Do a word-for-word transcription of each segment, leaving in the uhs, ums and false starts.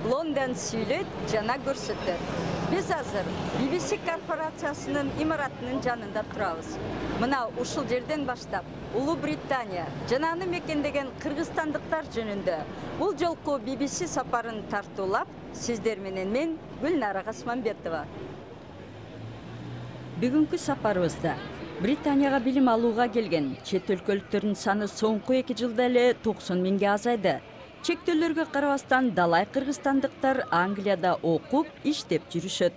Лондон сүйлөйт жана көрсөтөт. Биз азыр би би си корпорациясынын имаратынын жанында турабыз. Мына ушул жерден баштап Улуу Британия жана аны мекендеген кыргызстандыктар жөнүндө бул жолку би би си сапарын тартуулап, сиздер менен мен Гүлнара Касманбетова. Бүгүнкү сапарыбызда Британияга билим алууга келген чет өлкөлүктөрдүн саны соңку эки жылда эле токсон миңге азайды. Чектөөлөргө карабастан далай кыргызстандыктар Англияда окуп, иштеп жүрүшөт.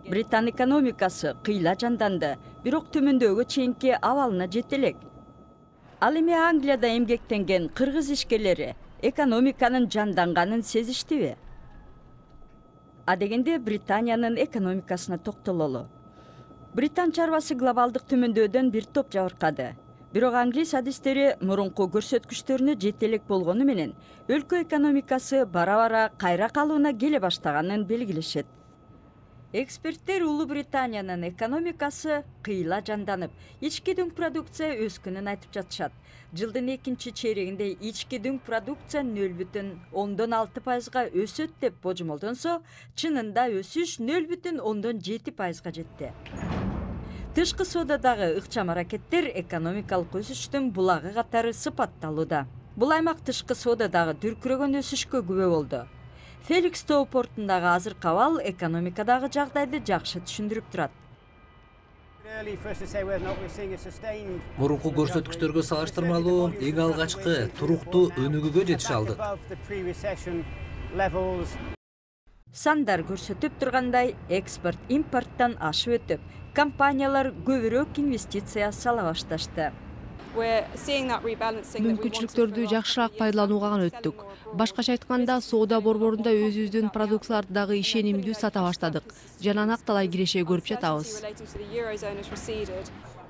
Британ экономикасы кыйла жанданды, бирок төмөндөөгө чейинки абалына жете элек. Ал эми Англияда эмгектенген кыргыз ишкерлери экономиканын жанданганын сезиштиби? А дегенде Британиянын экономикасына токтололу. Британ чарбасы глобалдык төмөндөодөн бир топ жабыркады. Бирок англис адистери мурунку көрсөткүчтөрүнө жете элек болгону менен өлкө экономикасы бара-бара кайра калууна келе баштаганын белгилешет. Эксперттер Улуу Британиянын экономикасы кыйла жанданып, ички дүң продукция өскөнүн айтып жатышат. Жылдын экинчи чейрегинде ички дүң продукция нөл бүтүн ондон алты пайызга өсөт деп божомолдонсо, чынында өсүш нөл бүтүн ондон жети пайызга жетти. Тышкы соодадагы ыкчам аракеттер экономикалык өсүштүн булагы катары сыпатталууда. Бул аймак тышкы соодадагы дүркүрөгөн өсүшкө күбө болду. Феликстоу портундагы азыркы абал экономикадагы жагдайды жакшы түшүндүрүп турат. Мурунку көрсөткүчтөргө салыштырмалуу эң алгачкы туруктуу өнүгүүгө жетише алдык. Сандар көрсөтүп тургандай, экспорт импорттон ашып өтүп, компаниялар көбүрөөк инвестиция сала башташты. Мүмкүнчүлүктөрдү жакшыраак пайдаланууга өттүк. Башкача айтканда, соода борборунда өзүбүздүн продукцияларды дагы ишенимдүү сата баштадык. Жана накталай киреше көрүп жатабыз.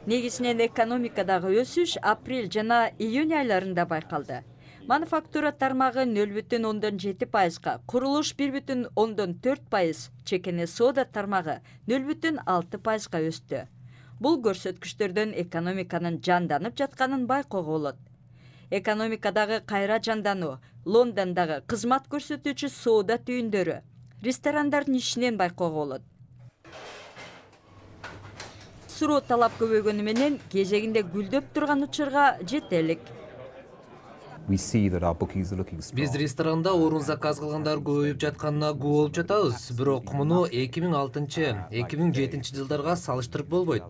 Негизинен экономикадагы өсүш апрель жана июнь айларында байкалды. Мануфактура тармагы нөл бүтүн ондон жети пайызга, курулуш бир бүтүн ондон төрт пайыз, чекене соода тармагы нөл бүтүн алты пайызга өстү. Бул көрсөткүчтөрдөн экономиканын жанданып жатканын байкоого болот. Экономикадагы кайра жандануу Лондондогу кызмат көрсөтүүчү соода түйүндөрү, ресторандардын ишинен байкоого болот. Суроо талап көбөйгөнү менен кезегинде гүлдөп турган учурга жете элек. Биз ресторанда орун заказ кылгандар көбөйүп жатканына күбө болуп жатабыз, бирок муну эки миң алтынчы эки миң жетинчи жылдарга салыштырып болбойт.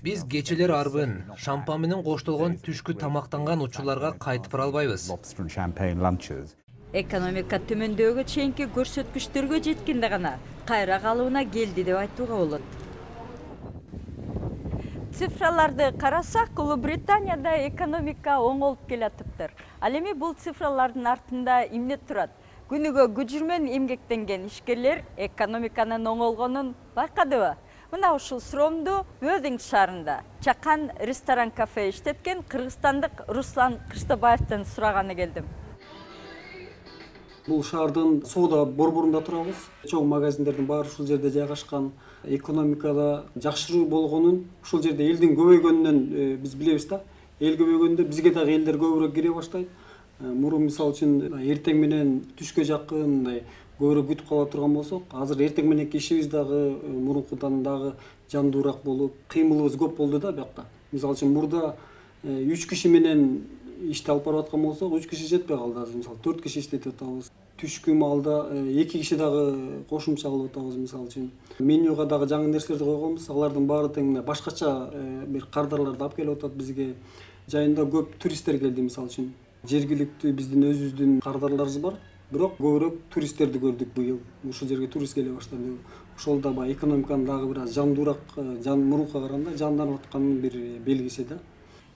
Биз кечелер арбын, шампан менен коштолгон түшкү тамактанган учурларга кайтып бара албайбыз. Экономика төмөндөөгө чейинки көрсөткүчтөргө жеткенде гана кайра калууна келди деп айтууга болот. Цифраларды карасак, Улуу Британияда экономика оңолуп келатыптыр. Ал эми бул цифралардын артында эмне турат? Күнүгө күжүрмөн эмгектенген ишкерлер экономиканын оңолгонун байкадыбы? Мына ушул суроомду Өдүң шаарында чакан ресторан-кафе иштеткен кыргызстандык Руслан Кыштыбаевден сураганы келдим. Бул шаардын соода борборунда турабыз. Чоң магазиндердин баары ушул жерде жайгашкан. Экономикада жакшыруу болгонун, ушул жерде элдин көбөйгөнүнөн биз билебиз да. Эл көбөйгөндө бизге дагы элдер көбүрөөк кире баштайт. Мурун мисалы үчүн эртең менен түшкө жакын мындай көбүрөөк күтүп кала турган болсок, азыр эртең мененки ишибиз дагы мурункудан дагы жандуураак болуп, кыймылыбыз көп болду да биякта. Мисалы үчүн мурда үч киши менен ишти алып барып аткан болсок, үч киши жетпей калды. Азыр мисалы төрт киши иштетип атабыз. Түшкү маалда эки киши дагы кошумча кылып атабыз мисалы үчүн. Менюга дагы жаңы нерселерди койгонбуз. Алардын баары тең башкача бир кардарларды алып келип атат бизге. Жайында көп туристтер келди мисалы үчүн. Жергиликтүү биздин өзүбүздүн кардарларыбыз бар. Бирок көбүрөөк туристтерди көрдүк быйыл. Ушул жерге турист келе баштады. Ошол да баягы экономиканын дагы бир аз жандуураак, жан мурункуга караганда жанданып атканын бир белгиси да.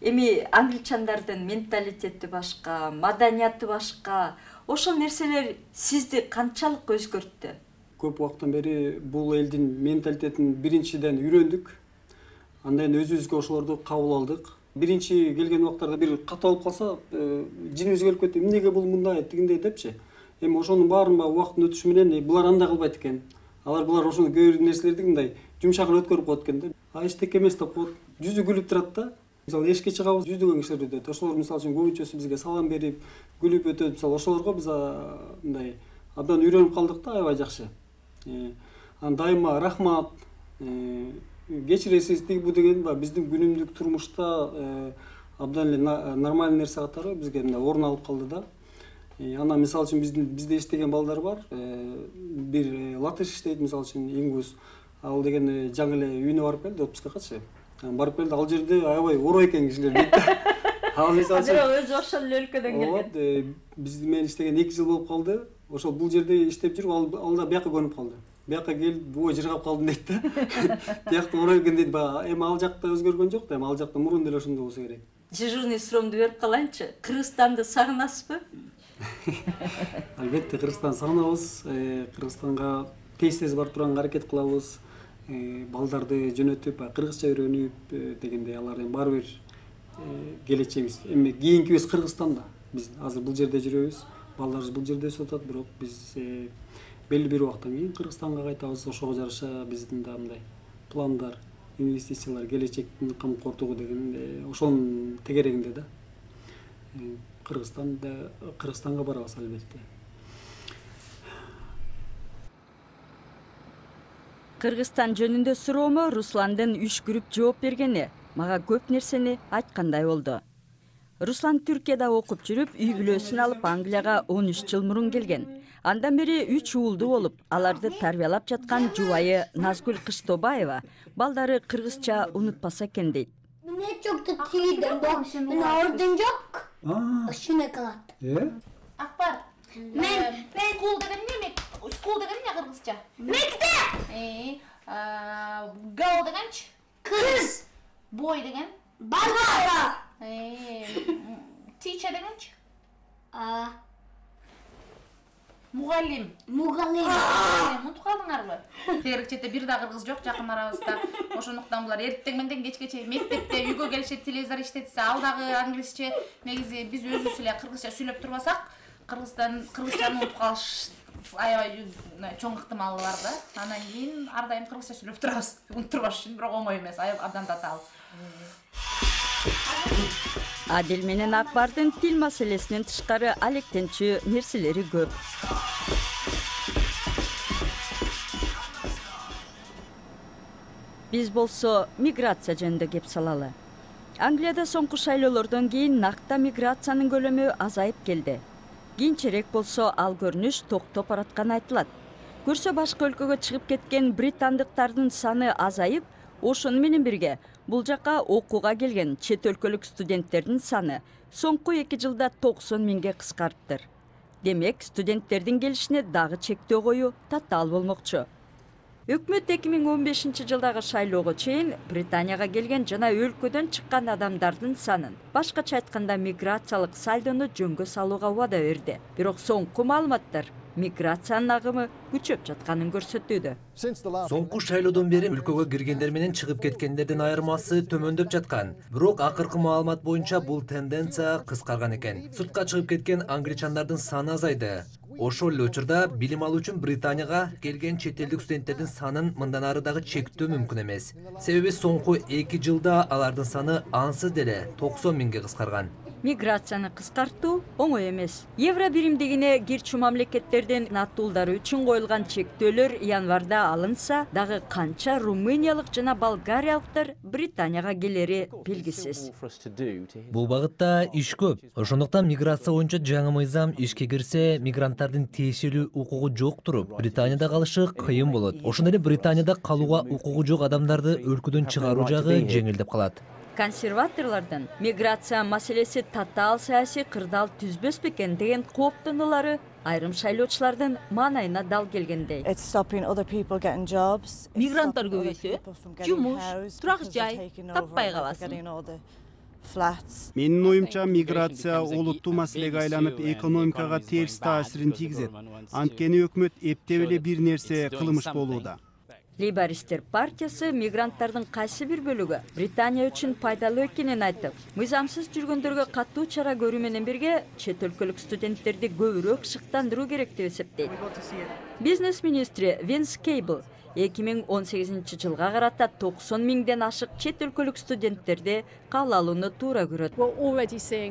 Эми англичандардын менталитети башка, маданияты башка. Ошол нерселер сизди канчалык өзгөрттү? Көп убакыттан бери бул элдин менталитетин биринчиден үйрөндүк. Андан өзүбүзгө ошолорду кабыл алдык. Биринчи келген убактарда бир катуу болуп калса, жинибиз келип кетти. Эмнеге бул мындай, тигиндей депчи. Эми ошонун баарын баягы убакыттын өтүшү менен булар андай кылбайт экен. Алар булар ошону көп нерселерди мындай жумшагын өткөрүп коет экен да. А эчтеке эмес деп коет. Жүзү күлүп турат да. Мисалы эшикке чыгабыз, жүздөгөн кишилер өтөт. Ошолор мисалы үчүн көбүнчөсү бизге салам берип, күлүп өтөт. Мисалы ошолорго биз мындай абдан үйрөнүп калдык да, аябай жакшы. Анан дайыма рахмат, кечиресиз тиги бу деген биздин күнүмдүк турмушта абдан эле нормальный нерсе катары бизге мындай орун алып калды да. Анан мисалы үчүн биздин бизде иштеген балдар бар. Бир латыш иштейт, мисалы үчүн Ингус. Ал деген жаңы эле үйүнө барып келди, отпускакачы. Барып келди, ал жерде аябай орой экен кишилер дейт да. Ал мисалы үчүн өзү ошол эле өлкөдөн келген. Биз менен иштеген эки жыл болуп калды. Ошол бул жерде иштеп жүрүп, ал да бияка көнүп калды. Бияка келип, ой жыргап калдым дейт да. Биякта орой экен дейт. Эми ал жакта өзгөргөн жок да, эми ал жакта мурун деле ошондой болсо керек. Дежурный суроомду берип калайынчы. Кыргызстанды сагынасызбы? Албетте Кыргызстанды сагынабыз. Кыргызстанга тез-тез барып турганга аракет кылабыз. Балдарды жөнөтүп, кыргызча үйрөнүп дегендей, алар эми баары бир келечегибиз. Эми кийинкибиз Кыргызстанда. Биз азыр бул жерде жүрөбүз. Балдарыбыз бул жерде өсүп атат, бирок биз белгилүү бир убакыттан кийин Кыргызстанга кайтабыз. Ошого жараша биздин да мындай пландар, инвестициялар, келечектин камкортугу деген ошонун тегерегинде да. Кыргызстанда Кыргызстанга барабыз албетте. Кыргызстан жөнүндө суроомо Русландын үшкүрүп жооп бергени мага көп нерсени айткандай болду. Руслан Түркияда окуп жүрүп, үй бүлөсүн алып Англияга он үч жыл мурун келген. Андан бери үч уулду болуп, аларды тарбиялап жаткан жубайы Назгүл Кыштобаева балдары кыргызча унутпаса экен дейт. Мне çok da tiyden bak. Ben oradan yok. Şuna kalat. Э? Akbar. Men Ben school dedim ne? School dedim ne Kırgızca? mektep. Ee, girl degen ç? Kız. Boy degen? Baba. Ee, teacher degen ç? Aa, Mugallim. mugallim. Unutуп калдыңарбы? Керекчете бир да кыргыз жок жакын арабызда. Ошондуктан булар эртең менден кечке чейин мектепте үйгө келишет, телевизор иштетсе, ал дагы англисче. Негизи биз өзүбүз эле кыргызча сүйлөп турбасак, Кыргызстан кыргызчаны унутуп калыш аябай чоң ыктымалы бар да. Анан кийин ар дайым кыргызча сүйлөп турабыз. Унутпаш үчүн, бирок оңой эмес, абдан татаал. Адил менен Акбардын тил маселесинен тышкары алектенчү нерселери көп. Биз болсо миграция жөнүндө кеп салалы. Англияда соңку шайлоолордон кийин накта миграциянын көлөмү азайып келди. Кийинчерээк болсо ал көрүнүш токтоп баратканы айтылат. Көрсө башка өлкөгө чыгып кеткен британдыктардын саны азайып, ошону менен бирге бул жака окууга келген чет өлкөлүк студенттердин саны соңку эки жылда токсон миңге кыскарыптыр. Демек, студенттердин келишине дагы чектөө коюу татаал болмокчу. Өкмөт эки миң он бешинчи жылдагы шайлоого чейин Британияга келген жана өлкөдөн чыккан адамдардын санын, башкача айтканда миграциялык сальдону жөнгө салууга убада берди. Бирок соңку маалыматтар миграциянын агымы күчөп жатканын көрсөтүүдө. Соңку шайлоодон бери өлкөгө киргендер менен чыгып кеткендердин айырмасы төмөндөп жаткан. Бирок акыркы маалымат боюнча бул тенденция кыскарган экен. Сыртка чыгып кеткен англичандардын саны азайды. Ошол эле учурда билим алуу үчүн Британияга келген чет элдик студенттердин санын мындан ары дагы чектөө мүмкүн эмес. Себеби соңку эки жылда алардын саны ансыз деле токсон миңге кыскарган. Миграцияны кыскартуу оңой эмес. Евро биримдигине кирчү мамлекеттердин аттуулдары үчүн коюлган чектөөлөр январда алынса, дагы канча румыниялык жана болгариялыктар Британияга келери белгисиз. Бул багытта иш көп. Ошондуктан миграция боюнча жаңы мыйзам ишке кирсе, мигранттардын тиешелүү укугу жок туруп, Британияда калышы кыйын болот. Ошондой эле Британияда калууга укугу жок адамдарды өлкөдөн чыгаруу жагы жеңилдеп калат. Консерваторлордун миграция маселеси татаал саясий кырдаал түзбөс бекен деген кооптонуулары айрым шайлоочулардын маанайына дал келгендей. Мигранттар көбөйсө, жумуш, турак жай таппай каласың. Менин оюмча, миграция олуттуу маселеге айланып, экономикага терс таасирин тийгизет. Анткени өкмөт эптеп эле бир нерсе кылмыш болууда. Лейбористтер партиясы мигранттардын кайсы бир бөлүгү Британия үчүн пайдалуу экенин айтып, мыйзамсыз жүргөндөргө катуу чара көрүү менен бирге чет өлкөлүк студенттерди көбүрөөк шыктандыруу керек деп эсептейт. Бизнес министри Винс Кейбл эки миң он сегизинчи жылга карата токсон миңден ашык чет өлкөлүк студенттерди кабыл алууну туура көрөт.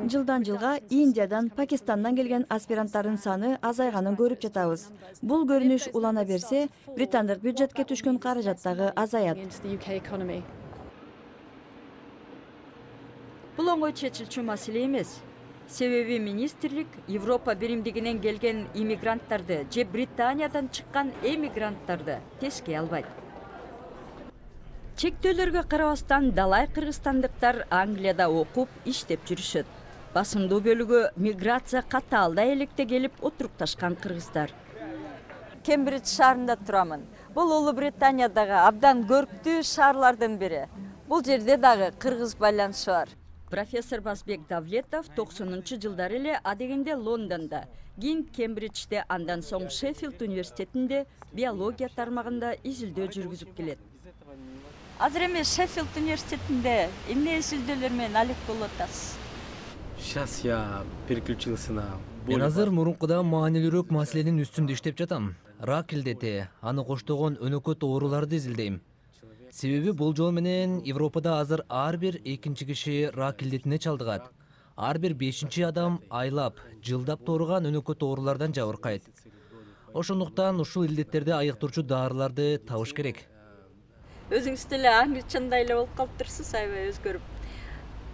Жылдан жылга Индиядан, Пакистандан келген аспиранттардын саны азайганын көрүп жатабыз. Бул көрүнүш улана берсе, британдык бюджетке түшкөн каражат дагы азаят. Бул оңой чечилчү маселе эмес. Себеби министрлик Европа биримдигинен келген иммигранттарды же Британиядан чыккан эмигранттарды теске албайт. Чектөөлөргө карабастан далай кыргызстандыктар Англияда окуп, иштеп жүрүшөт. Басымдуу бөлүгү миграция катаалда электе келип отурукташкан кыргыздар. Кембридж шаарында турамын. Бул Улуу Британиядагы абдан көрктүү шаарлардын бири. Бул жерде дагы кыргыз байланышы бар. Профессор Басбек Давлетов токсонунчу жылдары эле адегенде Лондондо, кийин Кембриджде, андан соң Шеффилд университетинде биология тармагында изилдөө жүргүзүп келет. Азыр эми Шеффилд университетинде эмне изилдөөлөр менен алек болуп атасыз? Сейчас я переключился на... Мен азыр мурункудан маанилүүрөөк маселенин үстүндө иштеп жатам. Рак илдети, аны коштогон өнөкөт ооруларды изилдейм. Себеби бул жол менен Европада азыр ар бир экинчи киши рак илдетине чалдыгат. Ар бир бешинчи адам айлап, жылдап тууруган өнөкөт оорулардан жабыркайт. Ошондуктан ушул илдеттерди айыктоочу дарыларды табыш керек. Өзүңүз деле англичандай эле болуп калыптырсыз, аябай өзгөрүп.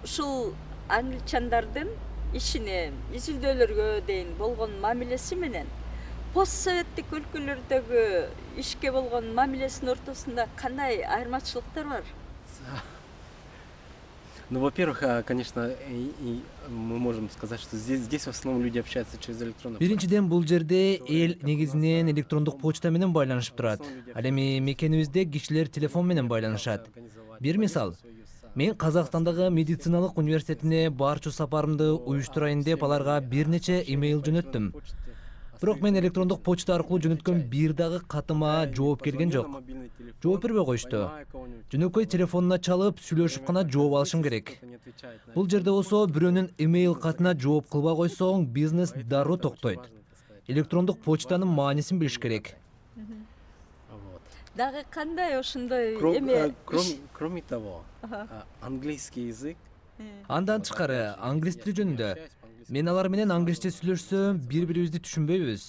Ушул англичандардын ишине, изилдөөлөргө дейин болгон мамилеси менен постсоветтик өлкөлөрдөгү ишке болгон мамилесинин ортосунда кандай айырмачылыктар бар? Ну, во-первых, конечно, и, и мы можем сказать, что здесь, здесь в основном люди общаются через электронную почту. Биринчиден, бул жерде эл негизинен электрондук почта менен байланышып турат. Ал эми мекенибизде кишилер телефон менен байланышат. Бир мисал, мен Казакстандагы медициналык университетине барчу сапарымды уюштурайын деп аларга бир нече имейл жөнөттүм. Бирок мен электрондук почта аркылуу жөнөткөн бир дагы катыма жооп келген жок. Жооп бербей коюшту. Жөнөкөй телефонуна чалып, сүйлөшүп гана жооп алышым керек. Бул жерде болсо бирөөнүн имейл катына жооп кылбай койсоң, бизнес дароо токтойт. Электрондук почтанын маанисин билиш керек. Дагы кандай ошондой эме? Кроме того, английский язык. Андан тышкары, англис тили жөнүндө. Мен алар менен англисче сүйлөшсөм, бири-бирибизди түшүнбөйбүз.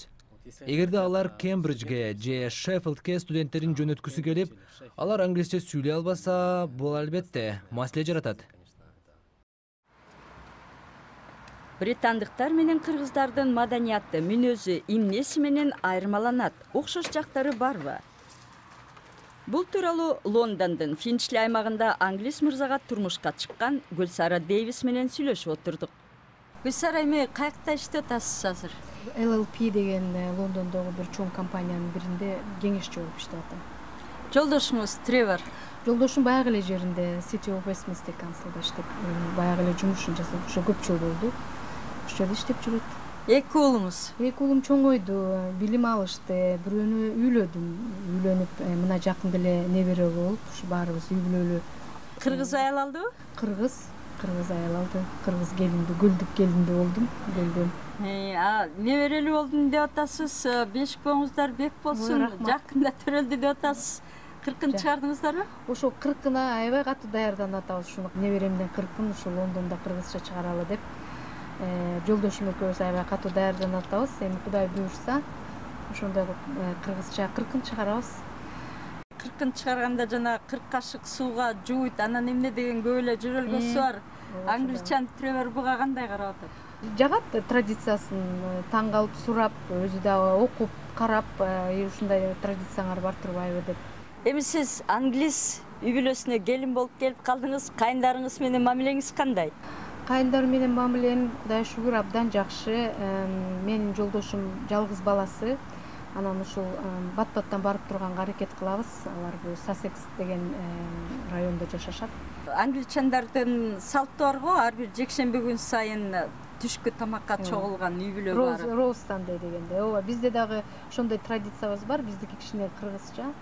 Эгерде алар Кембриджге же Шеффилдке студенттерин жөнөткүсү келип, алар англисче сүйлөй албаса, бул албетте маселе жаратат. Британдыктар менен кыргыздардын маданияты, мүнөзү, эмнеси менен айырмаланат? Окшош жактары барбы? Бул тууралуу Лондондун Финчли аймагында англис мырзага турмушка чыккан Гүлсара Дэвис менен сүйлөшүп отурдук. Гүлсара, эми каякта иштеп атасыз азыр? Эл Эл Пи деген Лондондогу бир чоң компаниянын биринде кеңешчи болуп иштеп атам. Жолдошуңуз Тревор? Жолдошум баягы эле жеринде City of Westminster Council'да иштеп, баягы эле жумушун жасап, ошо көп жыл болду. Ошол жерде иштеп жүрөт. Эки уулуңуз? Эки уулум чоңойду, билим алышты, бирөөнү үйлөдүм. Үйлөнүп, мына жакында эле небере болуп, ушу баарыбыз үй бүлөлүү. Кыргыз аял алдыбы? Кыргыз, кыргыз аял алды. Кыргыз келинди, гүлдүк келинди болдум, келдим. А, неберелүү болдум деп атасыз, беш боңуздар бек болсун, жакында төрөлдү деп атасыз. Кыркын чыгардыңыздарбы? Ошо кыркына аябай катуу даярданып атабыз. Ушуну неберемден кыркын ушу Лондондо кыргызча чыгаралы деп. Жолдошум экөөбүз аябай катуу даярданып атабыз. Эми Кудай буйрса, ошондой кыргызча кыркын чыгарабыз. Кыркын чыгарганда жана кырк кашык сууга жууйт, анан эмне деген көп эле жөрөлгөсү бар. Англичан Тревор буга кандай карап атат? Жагат, традициясын таң калып сурап, өзү дагы окуп, карап, ушундай традицияңар бар турбайбы деп. Эми сиз англис үй бүлөсүнө келин болуп келип калдыңыз, кайындарыңыз менен мамилеңиз кандай? Кайындар менен мамилем Кудай шүгүр абдан жакшы. Менин жолдошум жалгыз баласы. Анан ушул бат-баттан барып турганга аракет кылабыз. Алар бул Сассекс деген райондо жашашат. Англичандардын салты бар го, ар бир жекшемби күн сайын түшкү тамакка чогулган үй бүлө бар. Роустандай дегенде. Ооба, бизде дагы ошондой традициябыз бар. Биздики кичине кыргызча.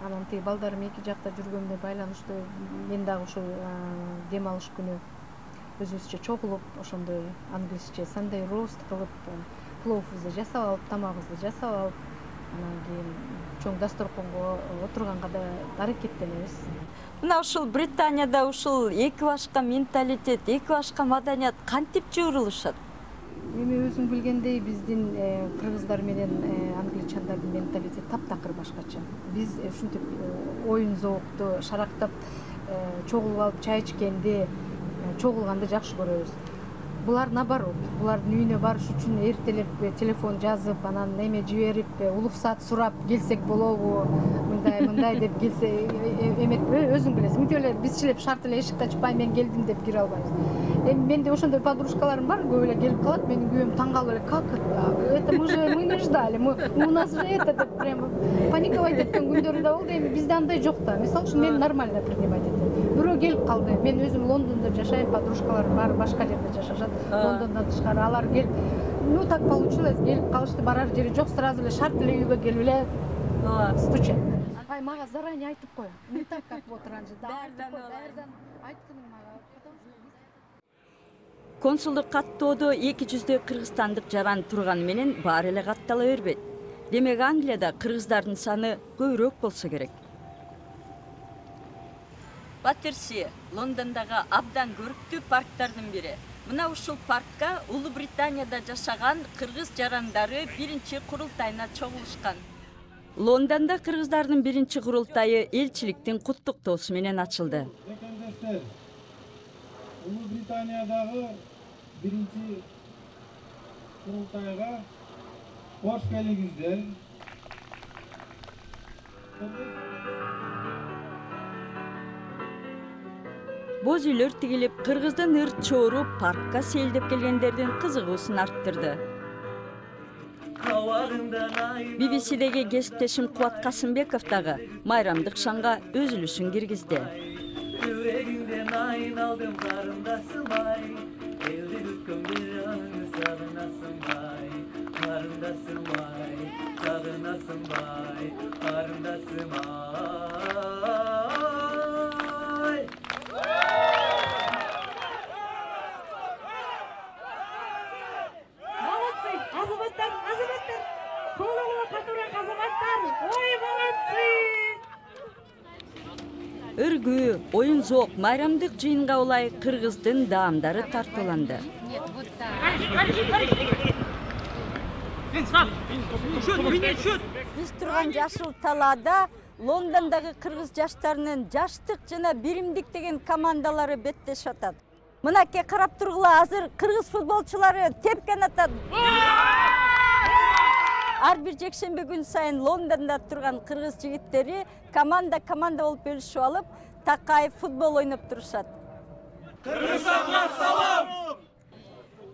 Анан тиги балдарым эки жакта жүргөндө байланыштуу, мен дагы ушул дем алыш күнү өзүбүзчө чогулуп, ошондой англисче Sunday roast кылып, пловубузду жасап алып, тамагыбызды жасап алып, анан кийин чоң дасторконго отурганга да аракеттенебиз. Мына ушул Британияда ушул эки башка менталитет, эки башка маданият кантип жыбырылышат? Эми өзүң билгендей биздин кыргыздар менен англичандардын менталитети таптакыр башкача. Биз ушинтип оюн зоокту шарактап чогулуп алып чай ичкенди, чогулганды жакшы көрөбүз. Булар наоборот, булардын үйүнө барыш үчүн эртелеп телефон жазып, анан неме жиберип, улуксаат сурап келсек болобу, мындай мындай деп келсе эмет, өзүң билесиң. Мүтөлөр бизчилеп шарт эле эшикти ачпай мен келдим деп кире албайбыз. Эми менде ошондой подружкаларым бар, көп эле келип калат, менин күйөөм таң калып эле, как это мы же мы не ждали, мы у нас же это деп прямо паниковать эткен күндөрү да болду. Эми бизде андай жок да. Мисалы үчүн мен нормально принимать этем. Бирөө келип калды. Мен өзүм Лондондо жашайм, подружкаларым бар, башка жерде жашашат. Лондондон тышкары алар келип, ну так получилось, келип калышты, барар жери жок, сразу эле шарт эле үйгө келип эле стучат. Ай, мага заранее айтып кой. Не так как вот раньше. Даярдан айтканың мага. Консулдук каттоодо эки жүздөй кыргызстандык жаран турганы менен баары эле каттала бербейт. Демек Англияда кыргыздардын саны көбүрөөк болсо керек. Баттерси Лондондогу абдан көрүктүү парктардын бири. Мына ушул паркка Улуу Британияда жашаган кыргыз жарандары биринчи курултайына чогулушкан. Лондондо кыргыздардын биринчи курултайы элчиликтин куттуктоосу менен ачылды. Улуу Британиядагы биринчи курултайга кош келиңиздер. Боз үйлөр тигилип, кыргыздын ырт чоору паркка сейилдеп келгендердин кызыгуусун арттырды. би би сидеги кесиптешим Кубат Касымбеков дагы майрамдык шаңга өзүлүшүн киргизди. Yüreğimden ayналdım karındasın ay, evde hükümlerini sarınasın bay, karındasın bay, sarınasın bay, karındasın ay. Молодцы, азаматтар, азаматтар, колуңа катурак азаматтар, ой молодцы. Өргүү, оюн зоок, майрамдык жыйынга улай кыргыздын даамдары тартууланды. Биз турган жашыл талаада Лондондогу кыргыз жаштарынын жаштык жана биримдик деген командалары беттешип атат. Мынакей карап тургула, азыр кыргыз футболчулары тепкен атат. Ар бир жекшембе күн сайын Лондондо турган кыргыз жигиттери команда команда болуп бөлүшүп алып, такай футбол ойноп турушат. Кыргызстанга салам!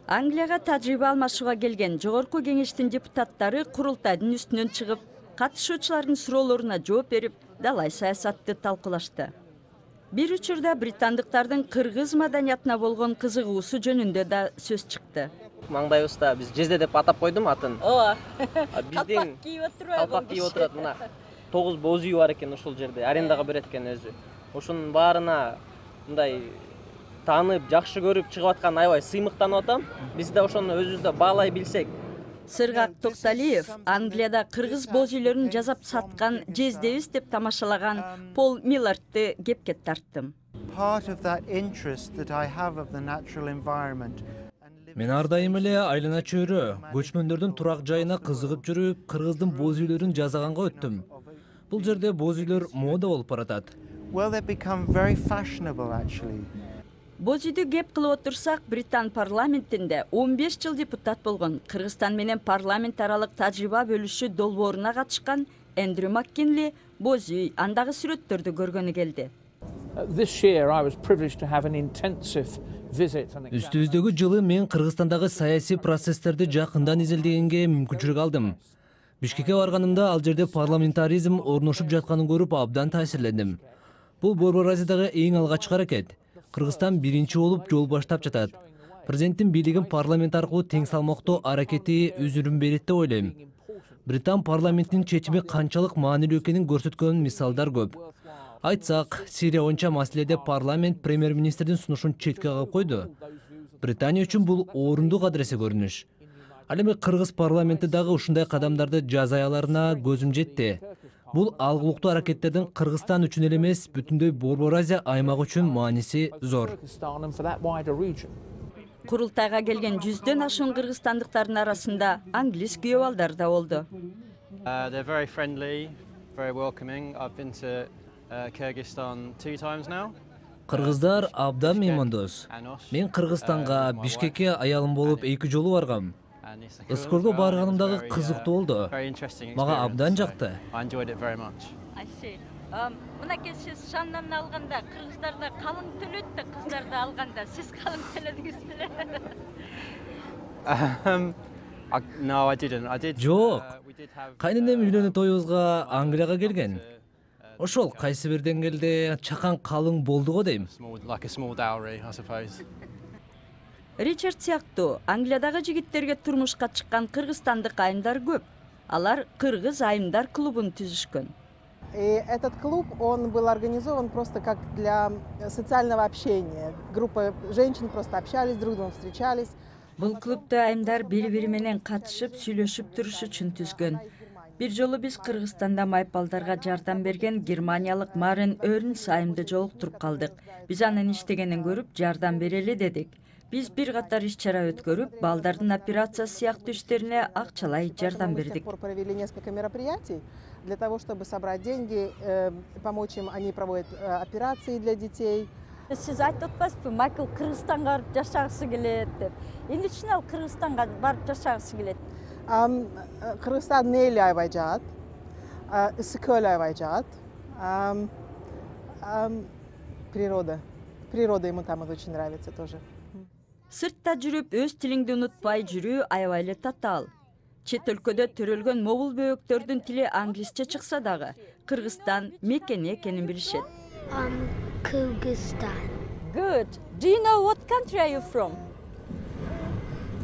Англияга тажрыйба алмашууга келген жогорку кеңештин депутаттары курултайдын үстүнөн чыгып, катышуучулардын суроолоруна жооп берип, далай саясатты талкуулашты. Бир учурда британдыктардын кыргыз маданиятына болгон кызыгуусу жөнүндө да сөз чыкты. Маңдайыбызда биз Жезде деп атап койдум атын. Ооба. Биздин калпак кийип отурат, мына тогуз боз үй бар экен ушул жерде, арендага берет экен өзү. Ошонун баарына мындай таанып, жакшы көрүп чыгып аткан аябай сыймыктанып атам. Биз да ошону өзүбүздө баалай билсек. Сыргак Токталиев Англияда кыргыз боз үйлөрүн жасап саткан Жездебиз деп тамашалаган Пол Миллардты кепке тарттым. Мен ар дайым эле айлана чөйрө, көчмөндөрдүн турак жайына кызыгып жүрүп, кыргыздын боз үйлөрүн жасаганга өттүм. Бул жерде боз үйлөр мода болуп баратат. Боз үйдү кеп кылып отурсак, Британ парламентинде он беш жыл депутат болгон, Кыргызстан менен парламент аралык тажрыйба бөлүшүү долбооруна катышкан Эндрю Маккинли боз үй, андагы сүрөттөрдү көргөнү келди. Үстүбүздөгү жылы мен Кыргызстандагы саясий процесстерди жакындан изилдегенге мүмкүнчүлүк алдым. Бишкекке барганымда ал жерде парламентаризм орношуп жатканын көрүп абдан таасирлендим. Бул Борбор Азиядагы эң алгачкы аракет. Кыргызстан биринчи болуп жол баштап жатат. Президенттин бийлигин парламент аркылуу тең салмактоо аракети өзүрүн берет деп ойлойм. Британ парламентинин чечими канчалык маанилүү экенин көрсөткөн мисалдар көп. Айтсак, Сирия боюнча маселеде парламент премьер-министрдин сунушун четке кагып койду. Британия үчүн бул орундук адреси көрүнүш. Ал эми кыргыз парламенти дагы ушундай кадамдарды жасай аларына көзүм жетти. Бул алгылыктуу аракеттердин Кыргызстан үчүн эле эмес, бүтүндөй Борбор Азия аймагы үчүн мааниси зор. Курултайга келген жүздөн ашуун кыргызстандыктардын арасында англис күйөө балдар да болду. They're very friendly, very welcoming. I've been to Kyrgyzstan two times now. Кыргыздар абдан меймандос. Мен Кыргызстанга, Бишкекке аялым болуп эки жолу баргам. Ыскорго барганымдагы кызыктуу болду. Мага абдан жакты. Мынакей сиз шандан алганда кыргыздарда калың төлөттү, кыздарды алганда сиз калың төлөдүңүз беле? No, I didn't. I did. Жок. Кайненем үйлөнүү тоюбузга Англияга келген. Ошол кайсы бир деңгээлде чакан калың болду го дейм. Like a small dowry, I suppose. Ричард сыяктуу Англиядагы жигиттерге турмушка чыккан кыргызстандык айымдар көп. Алар Кыргыз айымдар клубун түзүшкөн. И этот клуб, он был организован просто как для социального общения. Группа женщин просто общались, друг с другом встречались. Бул клубду айымдар бири-бири менен катышып, сүйлөшүп туруш үчүн түзгөн. Бир жолу биз Кыргызстанда майпалдарга жардам берген германиялык Марен Өрнс айымды жолуктуруп калдык. Биз анын иштегенин көрүп, жардам берели дедик. Биз бир катар иш-чара өткөрүп, балдардын операциясы сыяктуу иштерине акчалай жардам бердик. Провели несколько мероприятий для того, чтобы собрать деньги, помочь им, они проводят операции для детей. Сиз айтып атпайсызбы, Майкл Кыргызстанга барып жашагысы келет деп. Эмне үчүн ал Кыргызстанга барып жашагысы келет? Кыргызстан нейли айбайжат, ысыкөл айбайжат. Природа. Природа ему там очень нравится тоже. Сыртта жүрүп, өз тилиңди унутпай жүрүү аябай эле татаал. Чет өлкөдө төрөлгөн могул бөөктөрдүн тили англисче чыкса дагы, Кыргызстан мекени экенин билишет. Um, Kyrgyzstan. Good. Do you know what country are you from?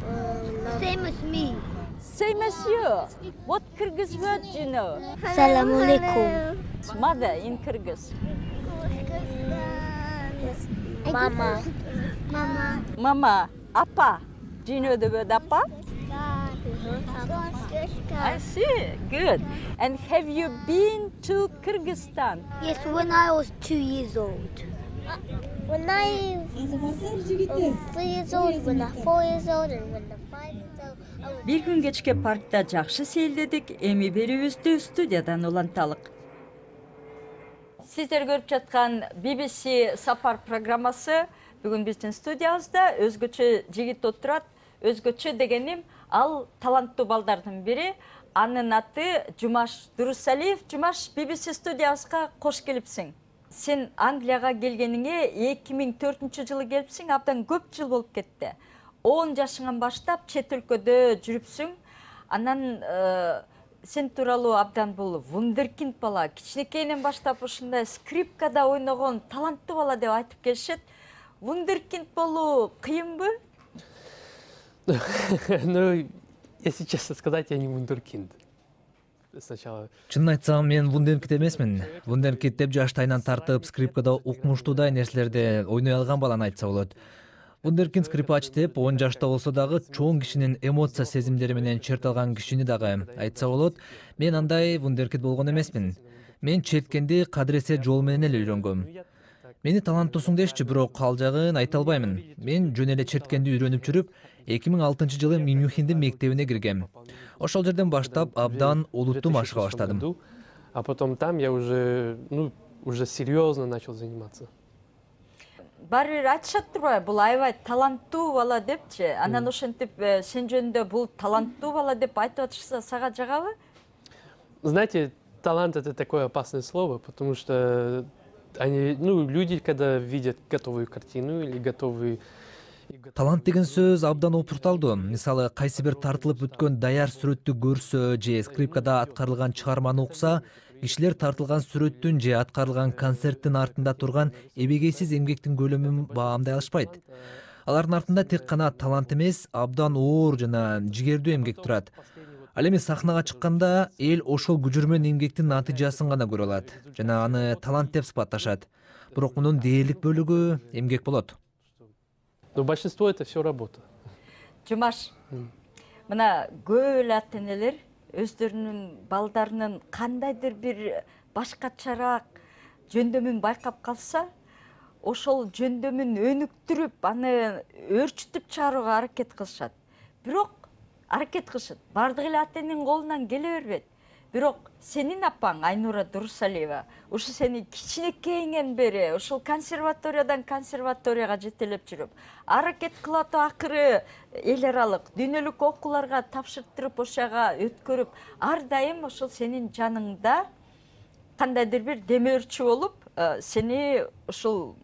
Uh, Same as me. Same as you. What Kyrgyz word do you know? Assalamu alaikum. Mother in Kyrgyz. Mama. Mama. Mama. Apa. Do you know the word apa? I see. Good. And have you been to Kyrgyzstan? Yes, when I was two years old. When I was three years old, when I four years old, and when I five years old. Бир күн кечке паркта жакшы сейилдедик, эми берүүбүздү студиядан уланталык. Сиздер көрүп жаткан би би си сапар программасы бүгүн биздин студиябызда өзгөчө жигит отурат. Өзгөчө дегеним ал таланттуу балдардын бири. Анын аты Жумаш Дурусалиев. Жумаш, би би си студиябызга кош келипсиң. Сен Англияга келгениңе эки миң төртүнчү жылы келипсиң, абдан көп жыл болуп кетти. он жашыңан баштап чет өлкөдө жүрүпсүң. Анан сен тууралуу абдан бул вундеркинд бала, кичинекейинен баштап ушундай скрипкада ойногон таланттуу бала деп айтып келишет. Вундеркинд болуу кыйынбы? Ну, если честно сказать, я не вундеркинд. Сначала. Чынын айтсам, мен вундеркинд эмесмин. Вундеркинд деп жаштайынан тартып скрипкада укмуштуудай нерселерди ойной алган баланы айтса болот. Вундеркинд скрипач деп он жашта болсо дагы чоң кишинин эмоция сезимдери менен черталган кишини дагы айтса болот. Мен андай вундеркинд болгон эмесмин. Мен четкенди кадыресе жол менен эле үйрөнгөм. Мени таланттуусуң дешчи, бирок ал жагын айта албаймын. Мен жөн эле черткенди үйрөнүп жүрүп, эки миң алтынчы жылы Мюнхендин мектебине киргем. Ошол жерден баштап абдан олуттуу машыга баштадым. А потом там я уже, ну, уже серьезно начал заниматься. Баары бир айтышат турбайбы, бул аябай таланттуу бала депчи. Анан ошентип сен жөнүндө бул таланттуу бала деп айтып атышса, сага жагабы? Знаете, талант — это такое опасное слово, потому что они, ну, люди, когда видят готовую картину или готовый. Талант деген сөз абдан опурталдуу. Мисалы, кайсы бир тартылып өткөн даяр сүрөттү көрсө же скрипкада аткарылган чыгарманы укса, кишилер тартылган сүрөттүн же аткарылган концерттин артында турган эбегейсиз эмгектин көлөмүн баамдай алышпайт. Алардын артында тек гана талант эмес, абдан оор жана жигердүү эмгек турат. Ал эми сахнага чыкканда эл ошол күжүрмөн эмгектин натыйжасын гана көрө алат жана аны талант деп сыпатташат. Бирок мунун дээрлик бөлүгү эмгек болот. Но большинство — это все работа. Жумаш, мына көп эле ата энелер өздөрүнүн балдарынын кандайдыр бир башкачараак жөндөмүн байкап калса, ошол жөндөмүн өнүктүрүп, аны өөрчүтүп чыгарууга аракет кылышат. Бирок аракет кылышат. Бардык эле ата эненин колунан келе бербейт. Бирок сенин апаң Айнура Дурусалиева ушу сени кичинекейиңен бери ушул консерваториядан консерваторияга жетелеп жүрүп, аракет кылып акыры эл аралык дүйнөлүк окууларга тапшыртырып, ошага өткөрүп, ар дайым ошол сенин жаныңда кандайдыр бир демөөрчү болуп, сени ушул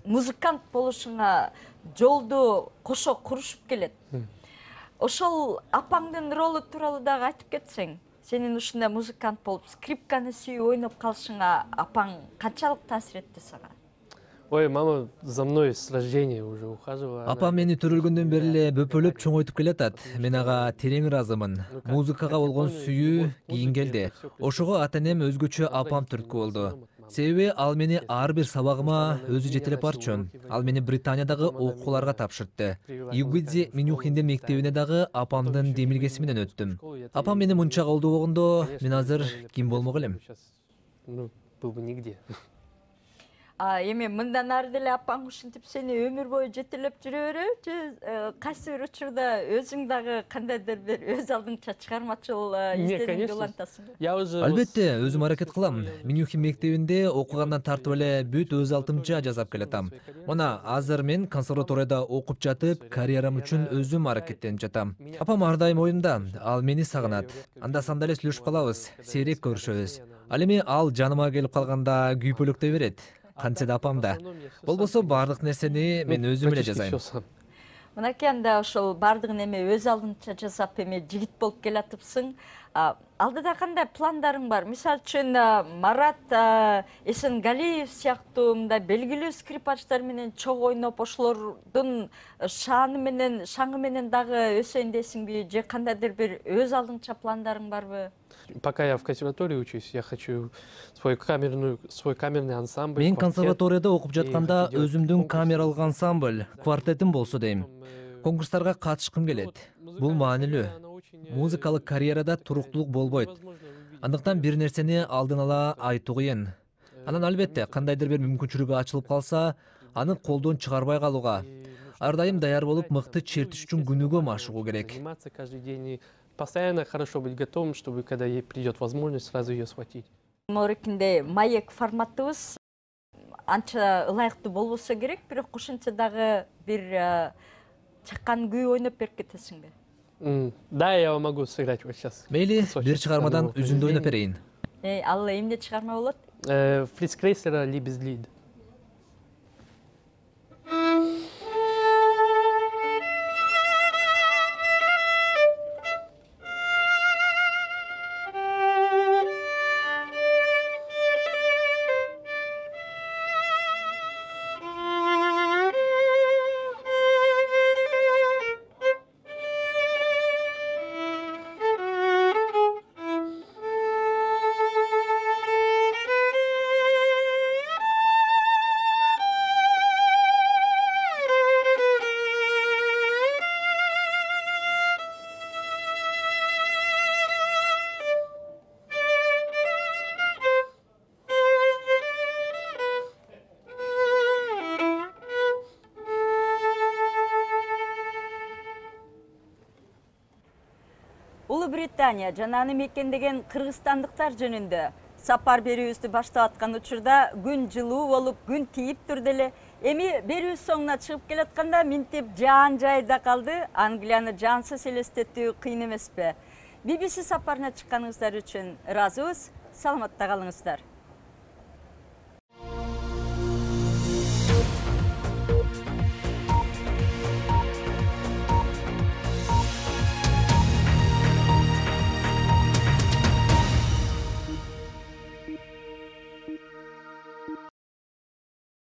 музыкант болушуңа жолду кошо курушуп келет. Ошол апаңдын ролу тууралуу дагы айтып кетсең, сенин ушундай музыкант болуп, скрипканы сүйүп ойноп калышыңа апаң канчалык таасир этти сага? Ой, мама за мной с рождения уже ухаживала. Апам мени төрөлгөндөн бери эле бөпөлөп чоңойтуп келатат. Мен ага терең ыраазымын. Музыкага болгон сүйүү кийин келди. Ошого ата энем өзгөчө апам түрткү болду. Себеби ал мени ар бир сабагыма өзү жетелеп барчу. Ал мени Британиядагы окууларга тапшыртты. Югвидзи Минюхиндин мектебине дагы апамдын демилгеси менен өттүм. Апам мени мынча колдобогондо, мен азыр ким болмок элем? Ну, был бы нигде. А эми мындан ары деле апаң ушинтип сени өмүр бою жетелеп жүрө береби, же кайсы бир учурда өзүң дагы кандайдыр бир өз алдыңча чыгармачыл изденүүгө улантасың? Албетте, өзүм аракет кылам. Минюхин мектебинде окугандан тартып эле бүт өз алдымча жасап келатам. Мына азыр мен консерваторияда окуп жатып, карьерам үчүн өзүм аракеттенип жатам. Апам ар дайым оюмда, ал мени сагынат. Анда-санда эле сүйлөшүп калабыз, сейрек көрүшөбүз. Ал эми ал жаныма келип калганда күйпөлөктөй берет. Кантсе да апам да. Болбосо бардык нерсени мен өзүм эле жасайм. Мынакей анда ошол бардыгын эми өз алдынча жасап эми жигит болуп келатыпсың. Алдыда кандай пландарың бар? Мисалы үчүн Марат Эсенгалиев сыяктуу мындай белгилүү скрипачтар менен чогуу ойноп, ошолордун шааны менен, шаңы менен дагы өсөйүн десиңби, же кандайдыр бир өз алдынча пландарың барбы? Пока я в консерватории учусь, я хочу свой камерный, свой камерный ансамбль. Мен консерваторияда окуп жатканда өзүмдүн камералык ансамбль, квартетим болсо дейм. Конкурстарга катышкым келет. Бул маанилүү. Музыкалык карьерада туруктуулук болбойт. Андыктан бир нерсени алдын ала айтуу кыйын. Анан албетте кандайдыр бир мүмкүнчүлүгү ачылып калса, аны колдон чыгарбай калууга, ар дайым даяр болуп мыкты чертиш үчүн күнүгө машыгуу керек. Постоянно хорошо быть готовым, чтобы когда ей придет возможность, сразу ее схватить. Морекинде маек форматыбыз анча ылайыктуу болбосо керек, бирок ошентсе дагы бир чакан күй ойноп берип кетесиңби? Да, я могу сыграть вот сейчас. Мейли, бир чыгармадан үзүндү ойноп берейин. Ал эмне чыгарма болот? Фриц Крейслера «Liebeslied». Улуу Британия жана аны мекендеген кыргызстандыктар жөнүндө сапар берүүбүздү баштап аткан учурда күн жылуу болуп, күн тийип турду эле. Эми берүүбүз соңуна чыгып келатканда минтип жаан жайда калды. Англияны жансыз элестетүү кыйын эмеспи? би би си сапарына чыкканыңыздар үчүн ыраазыбыз. Саламатта калыңыздар.